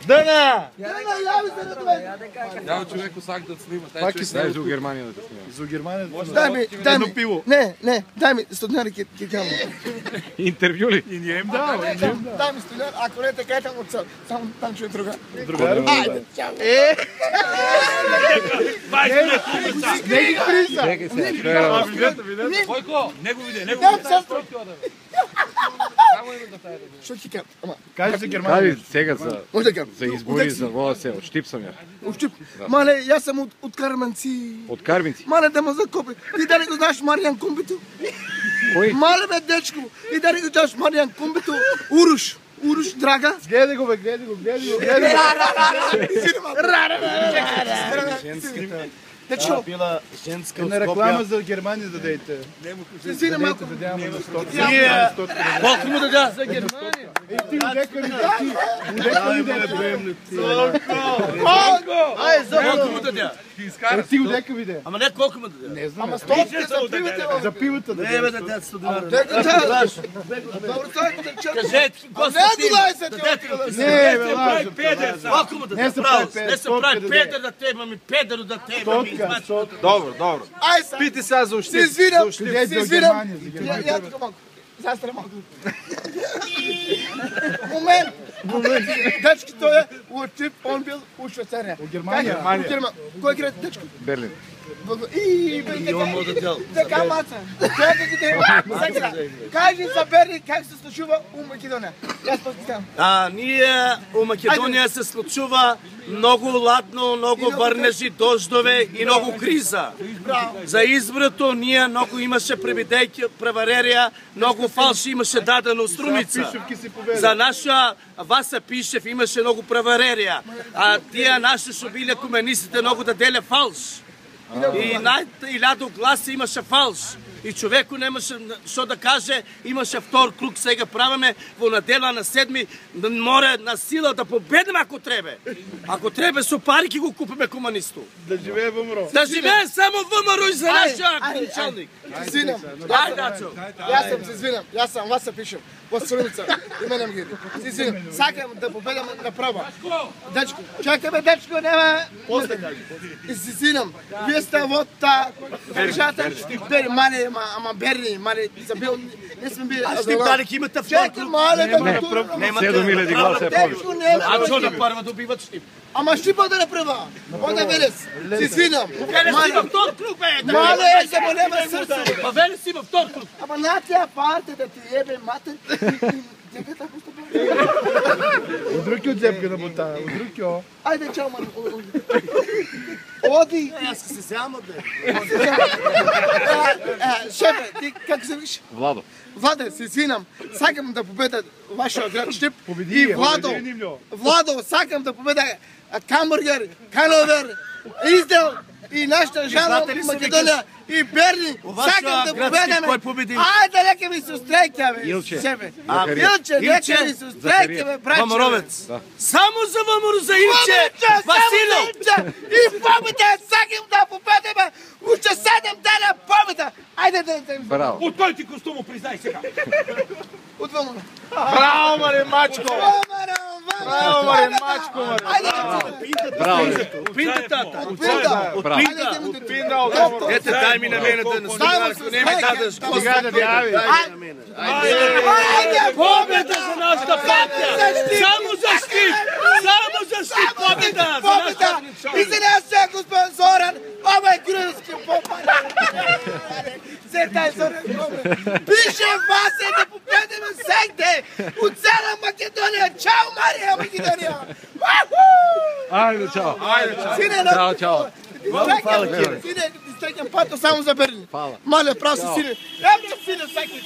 Дана! Јави се на това. Ја човеку сак да снима, тај човек Дај за Германија да снима. За Германија. Дај ми пиво. Не, дај ми стотинари ќе кажам. Интервју ли? И не им дава, Дај ми стотинари, ако не те кажам од само там човек друга. Другар. Ајде, чао. Не ги приса. Чекај се. Војко, него виде, него Дам виде. сестро. Само има да тај. Што ќе кажам? Ама, Кажи за Германија. Сега за може да кажам. за избори за во се, од Штип сам ја. Ушчип. Мале, јас сам од Карменци. Од Карвинци. Мале да ме закопи. Ти дали го знаеш Маријан Комбито? Кој? Мале бе дечко. И дали го знаеш Маријан Комбито? Уруш. Уруш, драга. Гледај го, бе, гледај го. Женската. Дечко. Била женска на реклама за Германија да дадете. Се свира малко. Ние Колку му да дадеш за Германија? ти удека ми ти. Ај, за Колку му даде? Ти удека виде. Ама не колку му даде? Не знам. Ама стопите за пивите. За пивото да. Не бе даде 100 динара. Дека да. Добро сајко да чекам. Кажете, Не Константин. додај се Дадете ти. му. Не, бе, лажа. Колку му даде? Не се Право, прави не се пет, прави сотка педер да теба ми, педер да теба ми. Сотка, сотка. Добро, добро. Ај са. Пити сега за Се Штип. извинам. Шлијај Се за извинам. Германија, за Германија. Ја тука малку. Застра малку. Момент. Дечки тој е у Штип, он бил у Швейцарија. У Германија. У Германија. Кој град дечко? Берлин. И он му дадел. Така маца. Чекай ги сега. Кажи за Берлин как се случува у Македонија. Јас питам. Ние у Македонија се случува многу ладно, многу врнежи, дождове и многу криза. За изборото ние многу имаше превидејки, преварерија, многу фалши имаше дадено Струмица. Пишевки си победа. За наша Васа Пишев имаше многу преварерија, а тие наши што биле комунистите многу да деле фалш. И илјаду гласи имаше фалш. И човеку немаше што да каже, имаше втор круг, сега правиме во недела на 7, море на сила да победиме ако требе. Ако требе со пари ќе го купиме комунисту. Да живее во МРО. Да живее само ВМРО и за нашиот ајде. началник. Извинам. Ајде, Дачо. Јас сам се извинам. Јас сам Васа Пишев. Во Струмица. И мене ми ги. Се извинам. Сакам да победам на прва. Дечко, чекај бе, дечко, нема. После кажи. И се извинам. Вие сте во та држата Бери, мале, ама Берни, мале, забил, не сме били. А Штип дали ќе имате втор Чекај, круг? мале, да ме турам. 7000 гласа е повеќе. Дечко, нема. А што да прва добиват Штип? Ама Штипа да не прва. Ода Велес. Се извинам. Велес има втор круг, бе. Мале, се му нема срце. Па Велес има втор круг. Ама на тя парте да ти ебе матер. Дека така што прави. Удрукио џепка да бута. Удрукио. Ајде, чао, ман. Оди. Јас се сеам од него. Шефе, ти како се виш? Владо. Владе, се извинам. Сакам да победа вашиот град Штип. Победи И ја, Владо. победи нивно. Владо, сакам да победа Камбургер, Кановер, Издел и нашата жена знаете ли се Македонија и Берни. вашиот Сакам да град Штип победаме. кој победи? Ајде, нека ми се устрекја, бе. Илче. Шефе. Захарија. Илче, нека ми се устрекја, бе, браќе. Вамаровец. Да. Само за ВМРО за Илче. Василов. И победа, сакам да победаме. Уште 7 дена победа. Ајде да Браво. Од кој ти костуму признај сега? Од двама. Браво, маре, мачко. Браво, маре, мачко, маре. Браво. Пинта тата. Браво. Пинта. Ете, дај ми на мене да ако не ми дадеш Сега да јави. дај на мене. Победа за нашата партија. Само за Штип. Само за Штип победа. За нашата И за нас е господин Зоран, ова е гръцки попад. Се тај Зоран Гомер. Пише вас е да победиме сегде от цела Македонија. Чао, Марија Македонија. Ајде, чао. Сине, Чао, чао. Сине, ти стекам пато само за Берлин. Фала. Мале, прав си, сине. Еве, сине, сакаш.